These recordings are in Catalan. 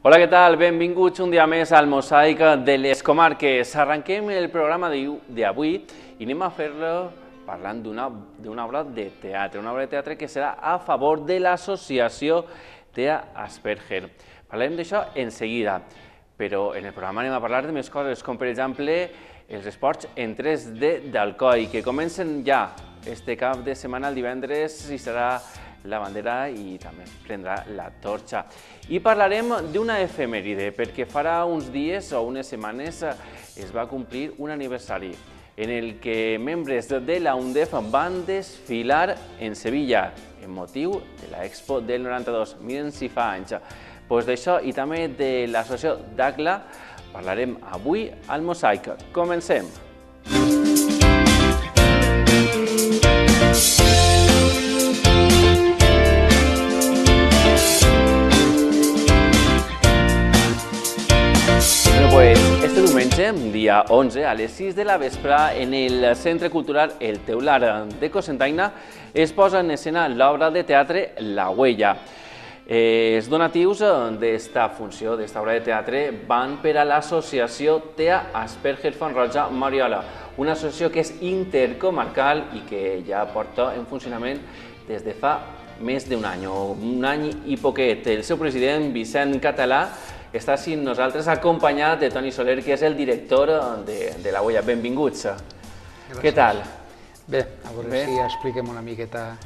Hola, què tal? Benvinguts un dia més al Mosaic de les Comarques. Arrenquem el programa d'avui i anem a fer-lo parlant d'una obra de teatre, una obra de teatre que serà a favor de l'associació Tea Asperger. Parlarem d'això en seguida, però en el programa anem a parlar de més coses, com per exemple els esports en 3D d'Alcoi, que comencen ja este cap de setmana, el divendres, i serà la bandera i també prendrà la torxa. I parlarem d'una efemèride, perquè farà uns dies o unes setmanes es va complir un aniversari en el que membres de la UNDEF van desfilar en Sevilla en motiu de l'Expo del 92. Miren si fa anys. Doncs d'això i també de l'associació d'ACLA parlarem avui al Mosaic. Comencem! Este diumenge, dia 11, a les 6 de la vespre, en el Centre Cultural El Teular de Cocentaina, es posa en escena l'obra de teatre La Huella. Els donatius d'esta funció, d'esta obra de teatre, van per a l'associació Tea Asperger Font Roja Mariola, una associació que és intercomarcal i que ja porta en funcionament des de fa més d'un any i poquet. El seu president, Vicent Català, està amb nosaltres acompanyat de Toni Soler, que és el director de La Huella. Benvinguts. Què tal? Bé, a veure si expliquem una miqueta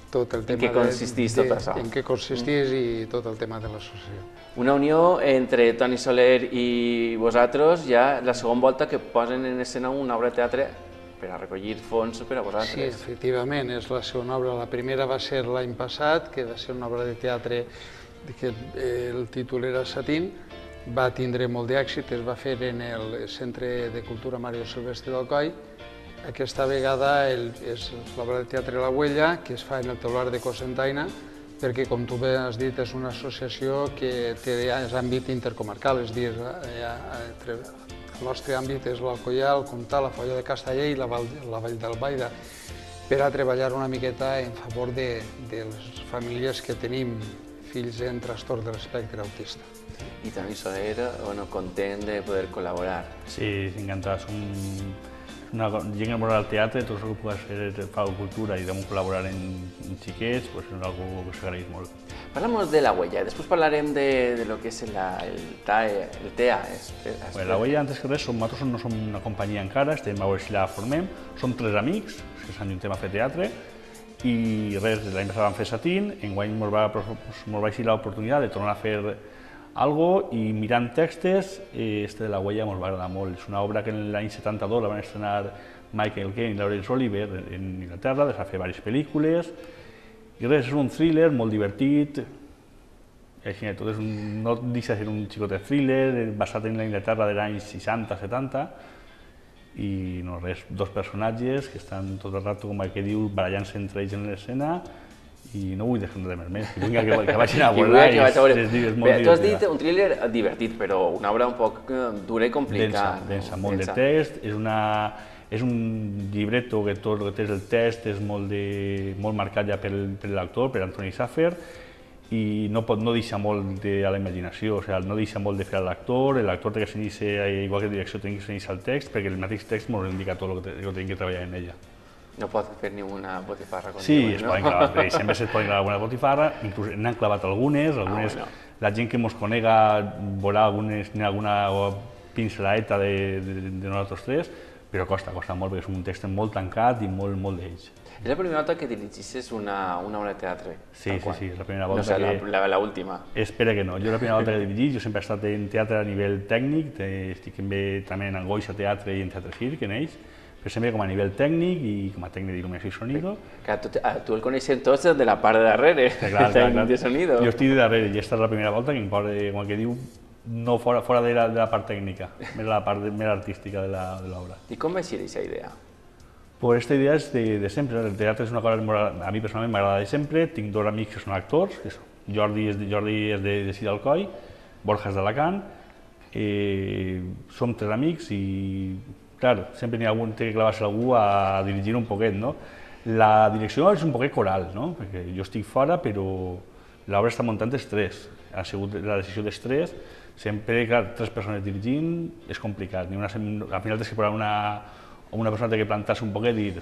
tot el tema... En què consisteix tot això? En què consisteix i tot el tema de l'associació. Una unió entre Toni Soler i vosaltres, ja la segona volta que posen en escena una obra de teatre per a recollir fons per a vosaltres. Sí, efectivament, és la segona obra. La primera va ser l'any passat, que va ser una obra de teatre que el títol era Satín, va tindre molt d'èxit, es va fer en el Centre de Cultura Mario Silvestre d'Alcoi. Aquesta vegada és l'obra de teatre La Huella, que es fa en el Teular de Cocentaina, perquè, com tu bé has dit, és una associació que té àmbit intercomarcal, és a dir, el nostre àmbit és l'Alcoià, el Comtal, la Foia de Castellà i la Vall d'Albaida, per a treballar una miqueta en favor de les famílies que tenim fills en trastorn de l'espectre autista. I Toni Soler, content de poder col·laborar. Sí, encantat. Som una gent que vol al teatre, tot el que pugui fer fa cultura i vam col·laborar en xiquets, és una cosa que s'agraeix molt. Parlem de La Huella, després parlarem de lo que és el TEA. La Huella, antes que res, nosaltres no som una companyia encara, estem a veure si la formem. Som 3 amics que s'ajuntem a fer teatre i res, l'any passat vam fer Satín, enguany ens va ser l'oportunitat de tornar a fer algo i mirant textos, este de La Huella ens va agradar molt. És una obra que l'any 72 la van estrenar Michael Caine i Laurence Olivier en Inglaterra, va fer diverses pel·lícules i res, és un thriller molt divertit, no deixa de ser un xicotet thriller basat en la Inglaterra dels anys 60-70 i no res, dos personatges que estan tot el rato, com que diu, barallant-se entre ells en l'escena i no vull deixar res més, que vagin a veure i és molt divertit. Tu has dit un thriller divertit, però una obra un poc dura i complicada. Densa, molt de text, és un llibreto que tot el que té el text és molt marcat ja per l'actor, per Antoni Saffer, i no deixa molt a la imaginació, no deixa molt de fer a l'actor té que s'inicia, igual que direcció, té que s'inicia el text, perquè el mateix text ens indica tot el que tenim que treballar en ella. No pot fer ni una botifarra. Sí, es poden clavar, sempre es poden clavar alguna botifarra, inclús n'han clavat algunes, la gent que ens conega veurà alguna pinceladeta de nosaltres tres, però costa molt, perquè és un text molt tancat i molt d'ells. És la primera volta que dirigissis una obra de teatre? Sí, la primera volta que... No sé, l'última. Espera que no. Jo la primera volta que he dirigit, jo sempre he estat en teatre a nivell tècnic, estic també en Angoixa Teatre i en Teatre Circ, en ells, però sempre com a nivell tècnic i com a tècnic d'il·luminació i sonido. Tu el coneixes tots de la part de darrere, el tècnic de sonido. Jo estic de darrere i aquesta és la primera volta que em posa, com que diu, no fora de la part tècnica, més la part més artística de l'obra. I com va ser aquesta idea? Pues esta idea és de sempre, el teatre és una cosa que a mi personalment m'agrada de sempre, tinc dos amics que són actors, Jordi és de Sidalcoi, Borja és d'Alacant, som 3 amics i, clar, sempre n'hi ha algun que clavar-se algú a dirigir un poquet, no? La direcció és un poquet coral, no? Perquè jo estic fora, però l'obra està muntant estrès, ha sigut la decisió d'estrès, sempre, clar, 3 persones dirigint és complicat, al final tens que posar una persona que plantar-se un poc i dir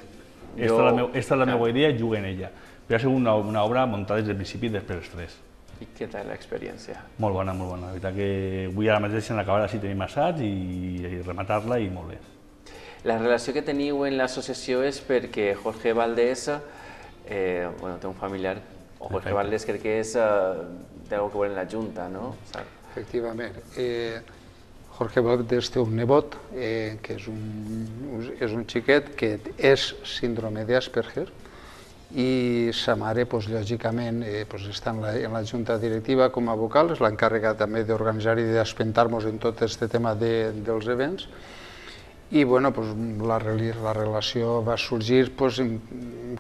esta és la meva idea, juga en ella. Però ha sigut una obra muntada des del principi i després l'estrès. I què tal l'experiència? Molt bona, molt bona. La veritat que avui ara mateix en acabar així tenim assaig i rematar-la i molt bé. La relació que teniu en l'associació és perquè Jorge Valdés té un familiar, o Jorge Valdés crec que és d'algo que vol en la Junta, no? Efectivament. Jorge Valdés té un nebot, que és un xiquet que és síndrome d'Asperger, i sa mare, lògicament, està en la junta directiva com a vocal, és l'encàrrega també d'organitzar i d'espentar-nos en tot aquest tema dels events. I la relació va sorgir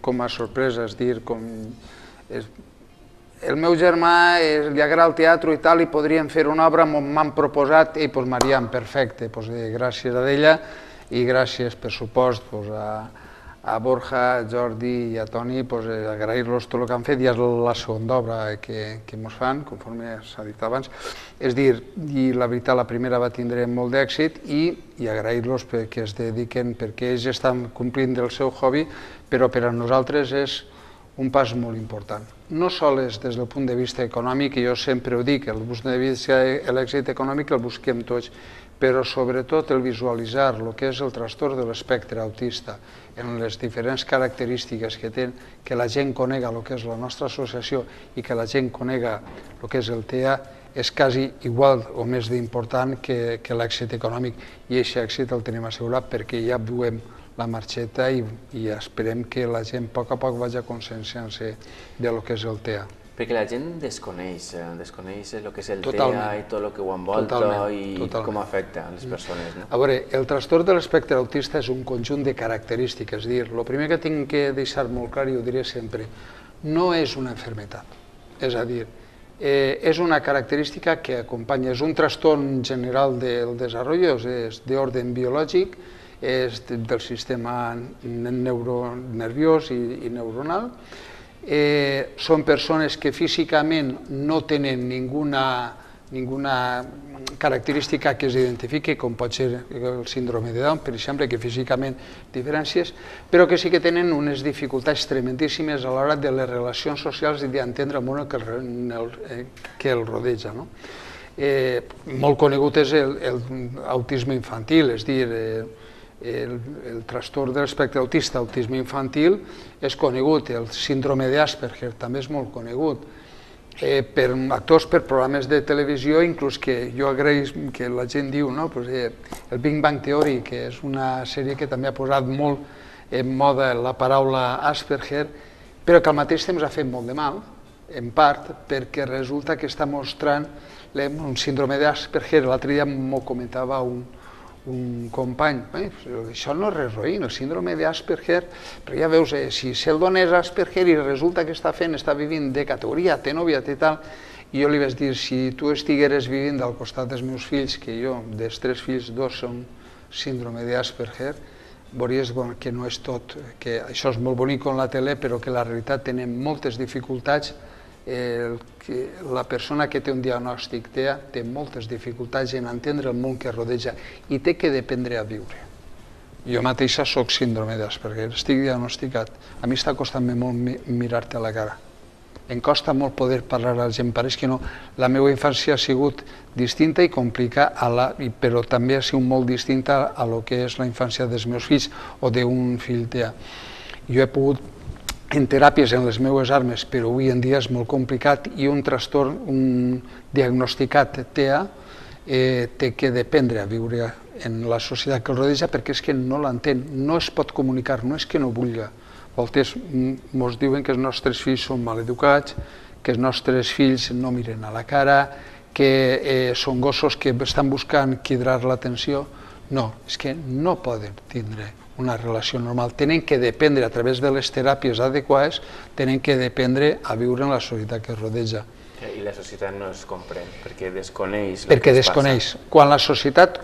com a sorpresa, és dir, el meu germà li agrada el teatre i tal, i podríem fer una obra, m'han proposat, i Mariam, perfecte, gràcies a ella i gràcies, per supost, a Borja, a Jordi i a Toni, agrair-los tot el que han fet, i és la segona obra que ens fan, conforme s'ha dit abans. És dir, i la veritat, la primera va tindre molt d'èxit, i agrair-los perquè es dediquen, perquè ells estan complint el seu hobby, però per a nosaltres és un pas molt important. No sols des del punt de vista econòmic, i jo sempre ho dic, el punt de vista de l'èxit econòmic el busquem tots, però sobretot el visualitzar el que és el trastorn de l'espectre autista en les diferents característiques que té, que la gent conega el que és la nostra associació i que la gent conega el que és el TEA, és quasi igual o més d'important que l'èxit econòmic, i aquest èxit el tenim assegurat perquè ja veiem la marxeta i esperem que la gent a poc vagi conscienciant-se del que és el TEA. Perquè la gent desconeix el que és el TEA i tot el que ho envolta i com afecta a les persones. A veure, el trastorn de l'espectre autista és un conjunt de característiques. És a dir, el primer que tinc que deixar molt clar, i ho diré sempre, no és una malaltia. És a dir, és una característica que acompanya, és un trastorn general del desenvolupament, és d'ordre biològic, és del sistema nerviós i neuronal. Són persones que físicament no tenen ninguna característica que s'identifiqui, com pot ser el síndrome de Down, per exemple, que físicament diferències, però que sí que tenen unes dificultats tremendíssimes a l'hora de les relacions socials i d'entendre el món que el rodeja. Molt conegut és l'autisme infantil, és a dir, el trastorn de l'espectre autista, autisme infantil, és conegut, el síndrome d'Asperger també és molt conegut per actors, per programes de televisió, inclús que jo agraeix que la gent diu, el Big Bang Theory, que és una sèrie que també ha posat molt en moda la paraula Asperger, però que al mateix temps ha fet molt de mal, en part perquè resulta que està mostrant un síndrome d'Asperger. L'altre dia m'ho comentava un company, això no és res roïn, el síndrome d'Asperger, però ja veus, si se'l dona és Asperger i resulta que està vivint de categoria, té nòvia, té tal, i jo li vaig dir, si tu estigueres vivint al costat dels meus fills, que jo, dels 3 fills, 2 són síndrome d'Asperger, veuries que no és tot, que això és molt bonic en la tele, però que la realitat tenen moltes dificultats. La persona que té un diagnòstic TEA té moltes dificultats en entendre el món que rodeja i té que aprendre a viure. Jo mateixa soc síndrome d'Asperger, estic diagnosticat. A mi està costant-me molt mirar-te a la cara. Em costa molt poder parlar a la gent, pareix que no. La meva infància ha sigut distinta i complicada, però també ha sigut molt distinta a lo que és la infància dels meus fills o d'un fill TEA. Jo he pogut en teràpies en les meves armes, però avui en dia és molt complicat, i un trastorn diagnosticat TEA té que aprendre a viure en la societat que el rodeja, perquè és que no l'entén, no es pot comunicar, no és que no vulgui. A voltes ens diuen que els nostres fills són mal educats, que els nostres fills no miren a la cara, que són gossos que estan buscant cridar l'atenció. No, és que no poden tindre una relació normal. Tenen que aprendre a través de les teràpies adequades, tenen que aprendre a viure en la societat que es rodeja. I la societat no es comprèn, perquè desconeix el que es passa. Perquè desconeix. Quan la societat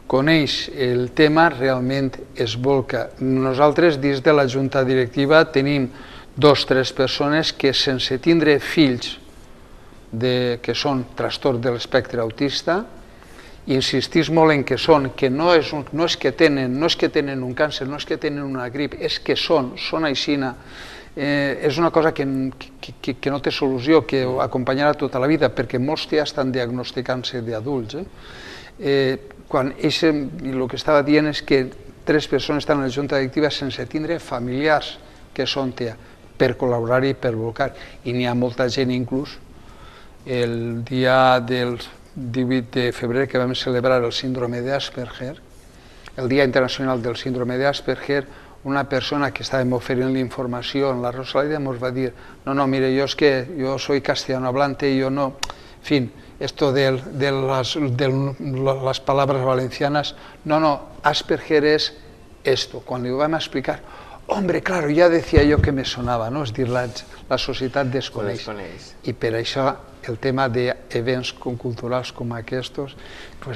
coneix el tema, realment es volca. Nosaltres, dins de la Junta Directiva, tenim 2 o 3 persones que sense tindre fills que són trastorn de l'espectre autista, insistís molt en que són, que no és que tenen un càncer, no és que tenen una grip, és que són aixina. És una cosa que no té solució, que acompanyarà tota la vida, perquè molts ja estan diagnosticant-se d'adults. Quan el que estava dient és que 3 persones estan a la junta directiva sense tindre familiars que són TEA, per col·laborar i per volcar. I n'hi ha molta gent inclús. El dia del 18 de febrer que vam celebrar el síndrome d'Asperger, el Dia Internacional del Síndrome d'Asperger, una persona que estàvem oferint l'informació en la Rosaleda ens va dir, no, mire, yo soy castellano hablante y yo no, en fin, esto de las palabras valencianas, no, Asperger es esto. Cuando lo vam explicar, hombre, claro, ja decía yo que me sonava, no? És dir, la societat desconeix. I per això el tema d'events culturals com aquests,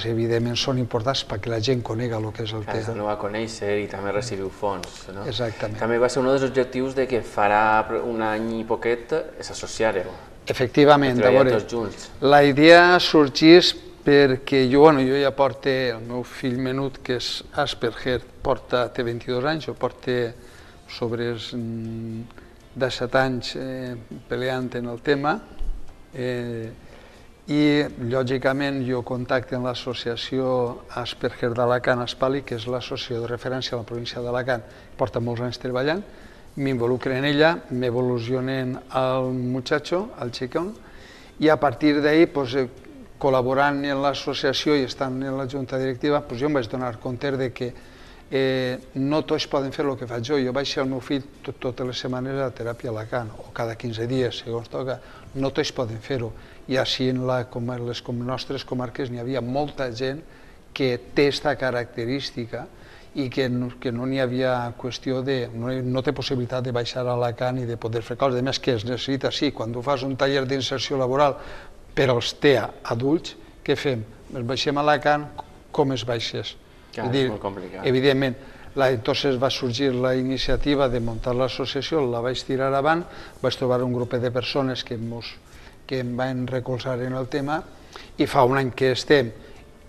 evidentment són importants perquè la gent conega el que és el TEA. No va conèixer i també recibiu fons. Exactament. També va ser un dels objectius que farà un any i poquet s'associareu. Efectivament, a veure, la idea sorgís perquè jo ja porto, el meu fill menut, que és Asperger, té 22 anys, jo porto sobre 17 anys peleant en el tema, i lògicament jo contacto amb l'associació Asperger d'Alacant, Aspali, que és l'associació de referència a la província d'Alacant, porta molts anys treballant, m'involucren en ella, m'evolucionen al muchacho, al xicón, i a partir d'ahí, col·laborant en l'associació i estant en la junta directiva, jo em vaig donar compte que no tots poden fer el que faig jo. Jo vaig ser el meu fill totes les setmanes a teràpia a Alacant, o cada 15 dies, segons toca. No tots poden fer-ho. I així en les nostres comarques n'hi havia molta gent que té aquesta característica i que no n'hi havia qüestió no té possibilitat de baixar a Alacant i de poder fer coses. A més, que es necessita, sí, quan tu fas un taller d'inserció laboral per als TEA adults, què fem? Ens baixem a Alacant, com es baixes? És molt complicat. Evidentment, entonces va sorgir la iniciativa de muntar l'associació, la vaig tirar avant, vaig trobar un grup de persones que em van recolzar en el tema i fa un any que estem.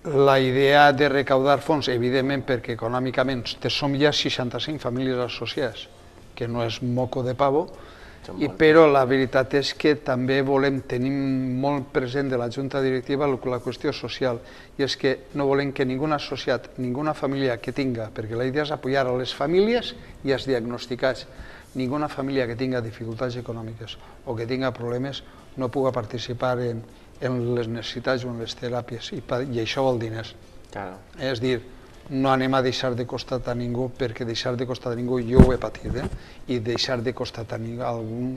La idea de recaudar fons, evidentment, perquè econòmicament som ja 65 famílies associades, que no és moco de pavo, però la veritat és que també volem tenir molt present de la junta directiva la qüestió social, i és que no volem que ningú associat, ninguna família que tinga, perquè la idea és apoyar a les famílies i als diagnosticats, ninguna família que tinga dificultats econòmiques o que tinga problemes no pugui participar en les necessitats o en les teràpies, i això vol diners. És dir, no anem a deixar de costat a ningú, perquè deixar de costat a ningú jo ho he patit, i deixar de costat a algú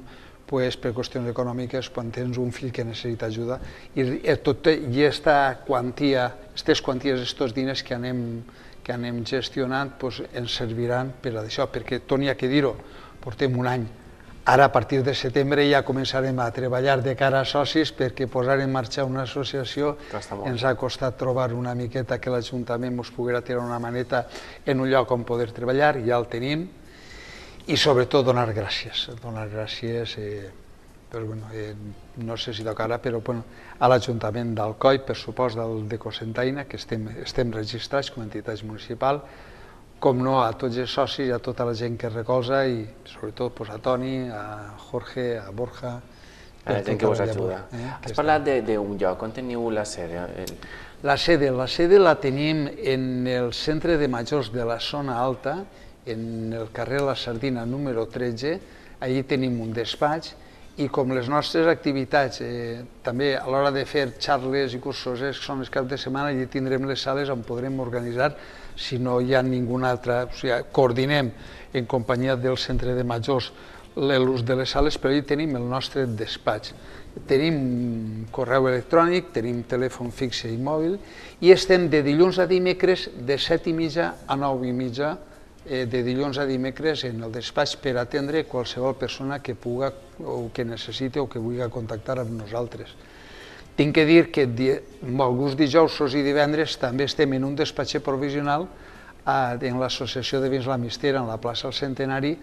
per qüestions econòmiques quan tens un fill que necessita ajuda, i aquesta quantia, aquestes quanties, aquests diners que anem gestionant ens serviran per a això, perquè tot n'hi ha que dir-ho, portem un any. Ara, a partir de setembre, ja començarem a treballar de cara a socis, perquè posar en marxa una associació ens ha costat trobar una miqueta que l'Ajuntament ens poguera tirar una maneta en un lloc on poder treballar, ja el tenim, i sobretot donar gràcies. Donar gràcies, no sé si tocarà, però a l'Ajuntament d'Alcoi, per supost de Cocentaina, que estem registrats com a entitat municipal, com no, a tots els socis i a tota la gent que recolza, i sobretot a Toni, a Jorge, a Borja... A la gent que us ajuda. Has parlat d'un lloc, on teniu la sede? La sede la tenim en el centre de majors de la zona alta, en el carrer La Sardina número 13, allí tenim un despatx, i com les nostres activitats, també a l'hora de fer xarles i cursos, són els caps de setmana, allí tindrem les sales on podrem organitzar, si no hi ha ninguna altra, o sigui, coordinem en companyia del centre de majors l'ús de les sales, però allí tenim el nostre despatx. Tenim correu electrònic, tenim telèfon fixe i mòbil, i estem de dilluns a dimecres de 7:30 a 9:30, de dilluns a dimecres en el despatx per atendre qualsevol persona que pugui o que necessiti o que vulgui contactar amb nosaltres. Tinc que dir que alguns dijous i divendres també estem en un despatx provisional en l'associació de Vins la Mistera, en la plaça del Centenari,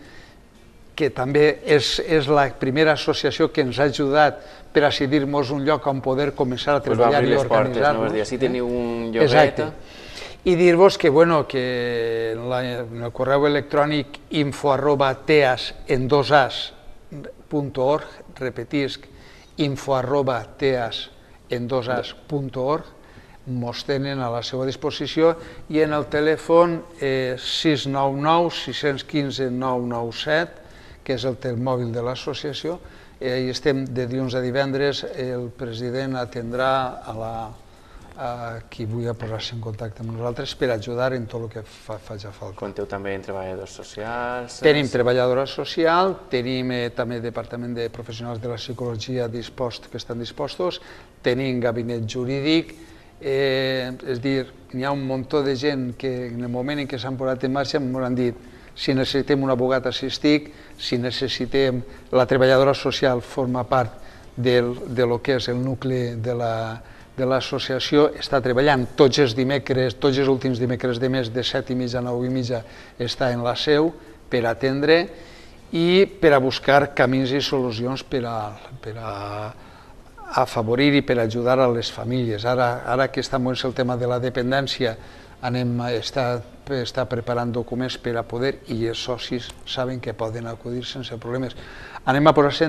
que també és la primera associació que ens ha ajudat per a cedir-nos un lloc on poder començar a treballar i organitzar-nos. Si teniu un lloguet... Exacte. I dir-vos que en el correu electrònic info@teas.org, repetisc, info@teas.org, mos tenen a la seva disposició, i en el telèfon 699 615 997, que és el mòbil de l'associació. Hi estem de dilluns a divendres. El president atendrà a qui vulgui posar-se en contacte amb nosaltres per ajudar en tot el que faci falta. Compteu també en treballadors socials? Tenim treballadora social, tenim també departament de professionals de la psicologia que estan dispostos, tenim gabinet jurídic, és a dir, hi ha un muntó de gent que en el moment en què s'han posat en marxa ens han dit si necessitem un abogat assistit, si necessitem... La treballadora social forma part del que és el nucli de l'associació, està treballant tots els dimecres, tots els últims dimecres de mes, de 7:30 a 9:30, està en la seu per atendre i per a buscar camins i solucions per a afavorir i per ajudar a les famílies. Ara que està molt el tema de la dependència, està preparant documents per a poder, i els socis saben que poden acudir sense problemes. Anem a posar-se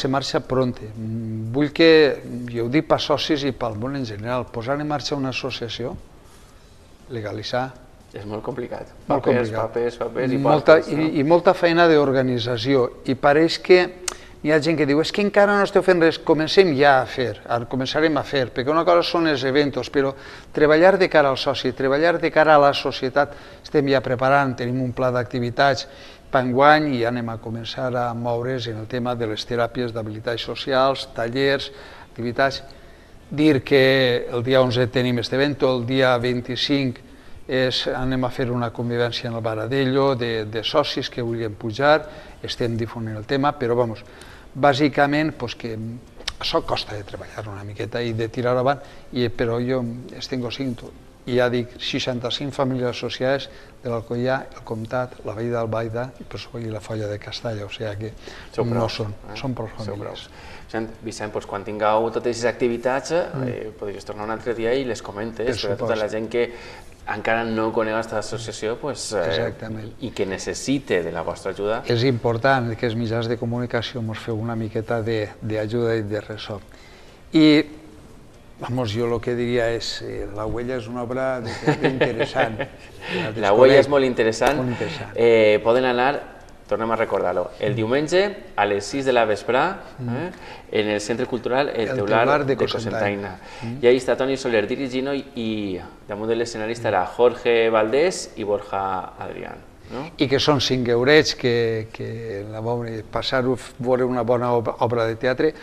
en marxa pronte. Vull que, jo ho dic per socis i pel món en general, posar en marxa una associació, legalitzar. És molt complicat. Papers i portes. I molta feina d'organització. I pareix que hi ha gent que diu, és que encara no esteu fent res, comencem ja a fer, començarem a fer, perquè una cosa són els eventos, però treballar de cara al soci, treballar de cara a la societat, estem ja preparant, tenim un pla d'activitats per enguany i anem a començar a moure's en el tema de les teràpies d'habilitats socials, tallers, activitats. Dir que el dia 11 tenim aquest event, el dia 25 anem a fer una convivència en el Baradello de socis que vulguin pujar, estem difonent el tema, però bàsicament que això costa de treballar una miqueta i de tirar avant, però jo estic cinto. I ja dic, 65 famílies associades de l'Alcoià, el Comtat, la Vall d'Albaida i la Folla de Castalla, o sigui que no són prou famílies. Vicent, quan tingueu totes aquestes activitats, podries tornar un altre dia i les comentes per a tota la gent que encara no coneix aquesta associació i que necessite de la vostra ajuda. És important que els mitjans de comunicació ens feu una miqueta d'ajuda i de ressò. I jo el que diria és La Huella és una obra de teatre interessant. La Huella és molt interessant. Poden anar, tornem a recordar-ho, el diumenge a les 6 de la vesprà en el Centre Cultural El Teular de Cocentaina. I ahí està Toni Soler dirigint i damunt de l'escenari estarà Jorge Valdés i Borja Adrián. I que són 5 eurets que passar-ho a veure una bona obra de teatre.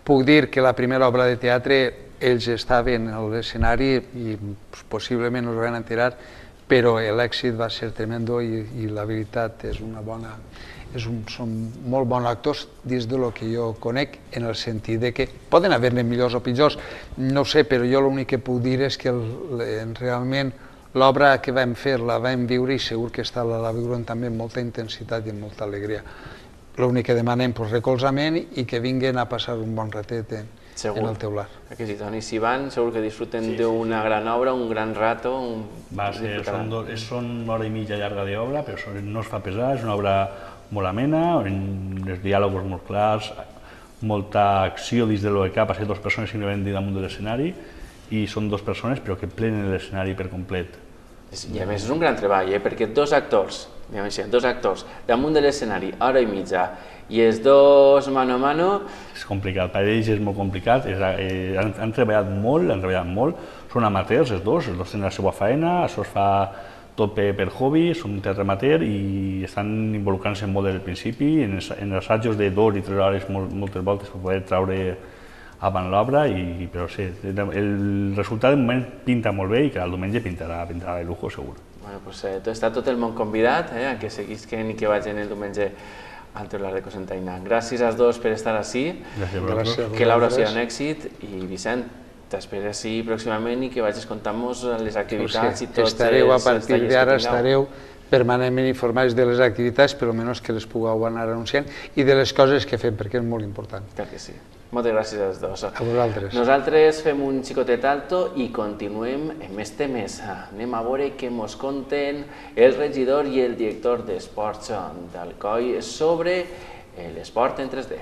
Puc dir que la primera obra de teatre ells estaven a l'escenari i possiblement us van enterar, però l'èxit va ser tremendo i la veritat són molt bons actors dins del que jo conec, en el sentit que poden haver-ne millors o pitjors, no ho sé, però jo l'únic que puc dir és que realment l'obra que vam fer la vam viure i segur que la viurem també amb molta intensitat i amb molta alegria. L'únic que demanem és recolzament i que vinguin a passar un bon ratet en el teular. Que sí, Toni, si van, segur que disfruten d'una gran obra, un gran rato. Són una hora i mitja llarga d'obra, però no es fa pesar, és una obra molt amena, amb els diàlegs molt clars, molta acció dins del que ha passat, 2 persones simplement damunt de l'escenari, i són 2 persones però que plenen l'escenari per complet. I a més és un gran treball, perquè 2 actors damunt de l'escenari, hora i mitja, i els 2 mano a mano... És complicat, per ells és molt complicat, han treballat molt, són amateurs els 2 tenen la seva feina, això es fa tot per hobby, són un teatre amateur i estan involucrant-se molt des del principi, en assajos de 2 i 3 hores moltes voltes per poder treure avant l'obra, però sí, el resultat de moment pinta molt bé i que el diumenge pintarà de lujo, segur. Està tot el món convidat que seguisquen i que vagin el diumenge al Teular de Cocentaina. Gràcies als 2 per estar ací, que l'obra sigui un èxit i Vicent, t'espero ací pròximament i que vagis contant-nos les activitats i tots els estareu a partir d'ara, estareu permanentment informats de les activitats, per almenys que les pugueu anar anunciant, i de les coses que fem, perquè és molt important. Clar que sí. Moltes gràcies als dos. A vosaltres. Nosaltres fem un xicotet alto i continuem amb més temes. Anem a veure què ens conten el regidor i el director d'Esports d'Alcoi sobre l'esport en 3D.